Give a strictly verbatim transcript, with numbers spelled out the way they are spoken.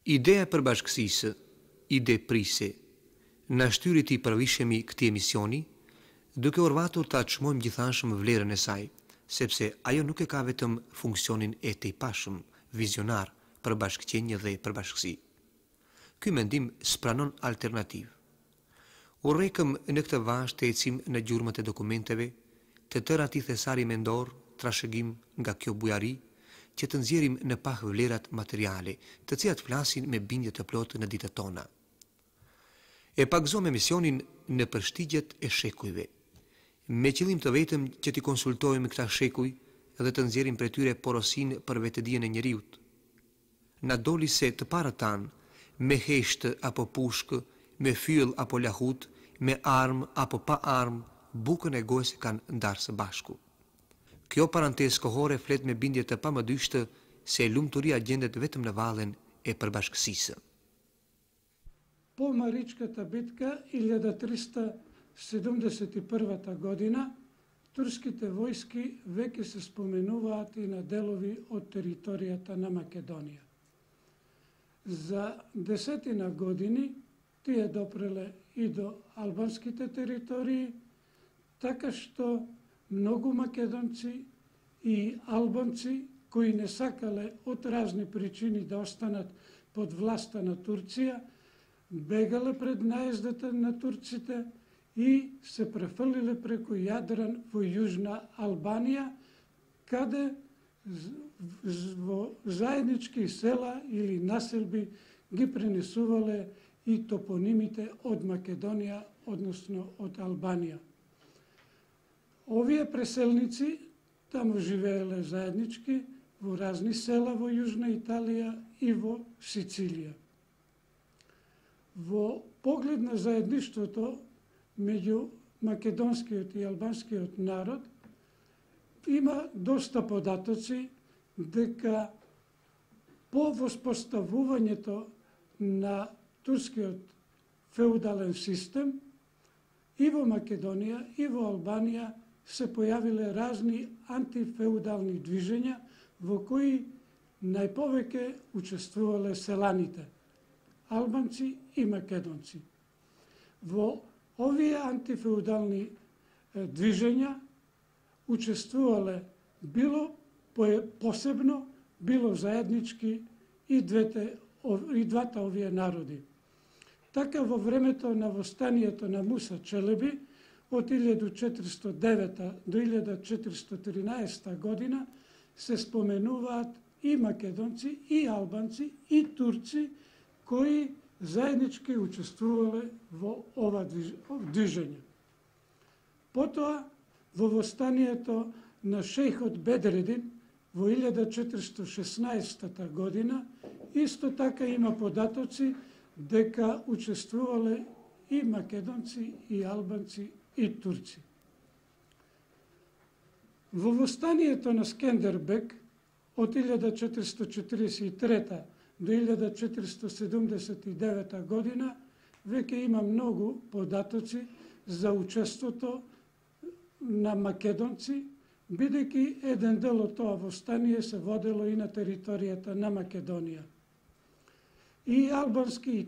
Ideea përbashkësisë, ide prise, na shtyrit i përvishemi këtij emisioni, duke urvatur ta çmojmë gjithashëm vlerën e saj, sepse ajo nuk e ka vetëm funksionin e tejpashëm, vizionar për bashkëqenje dhe përbashkësi. Ky mendim spranon alternativë. Urrekëm në këtë vazh të ecim në gjurmët e dokumenteve, të tëra ti thesari mendor, trashëgim nga kjo bujari, që të nxjerrim në pah vlerat materiale, të cilat flasin me bindje të plotë në ditët tona. E pagëzojmë emisionin në përshtigjet e shekujve, me qëllim të vetëm që t'i konsultojmë këta shekuj dhe të nxjerrim prej tyre porosin për vetëdijen e njeriut. Na doli se të parët tanë, me heshtë apo pushkë, me fyll apo lahut, me armë apo pa armë, bukën e gojës kanë ndarë së bashku. Kjo parantesë kohore flet me bindje të pamëdyshtë se lumturia gjendet vetëm në vallen e përbashkësisë. Po Маричката битка илјада триста седумдесет и прва година, турските војски веќе се споменуваат и на делови од територијата на Македонија. За десетина години тие допреле и до албанските територии, така што многу македонци и албанци кои не сакале од разни причини да останат под власта на Турција, бегале пред наездата на турците и се префрлиле преку Јадран во Јужна Албанија, каде во заеднички села или населби ги пренесувале и топонимите од Македонија, односно од Албанија. Овие преселници таму живееле заеднички во разни села во Јужна Италија и во Сицилија. Во поглед на заедништвото меѓу македонскиот и албанскиот народ има доста податоци дека по воспоставувањето на турскиот феудален систем и во Македонија и во Албанија се појавиле разни антифеудални движења во кои најповеќе учествувале селаните, албанци и македонци. Во овие антифеудални движења учествувале било посебно, било заеднички и двете и двата овие народи. Така во времето на востанието на Муса Челеби од илјада четиристотини и девета до илјада четиристотини и тринаесета година се споменуваат и македонци, и албанци, и турци кои заеднички учествувале во ова движење. Потоа, во востанието на шејхот Бедредин во илјада четиристотини и шеснаесета година, исто така има податоци дека учествувале и македонци, и албанци, и турци. Во востанието на Скендербек од илјада четиристотини и четиридесет и трета до илјада четиристотини и седумдесет и девета година веќе има многу податоци за учеството на македонци, бидејќи еден дел од тоа востание се водело и на територијата на Македонија. И албански и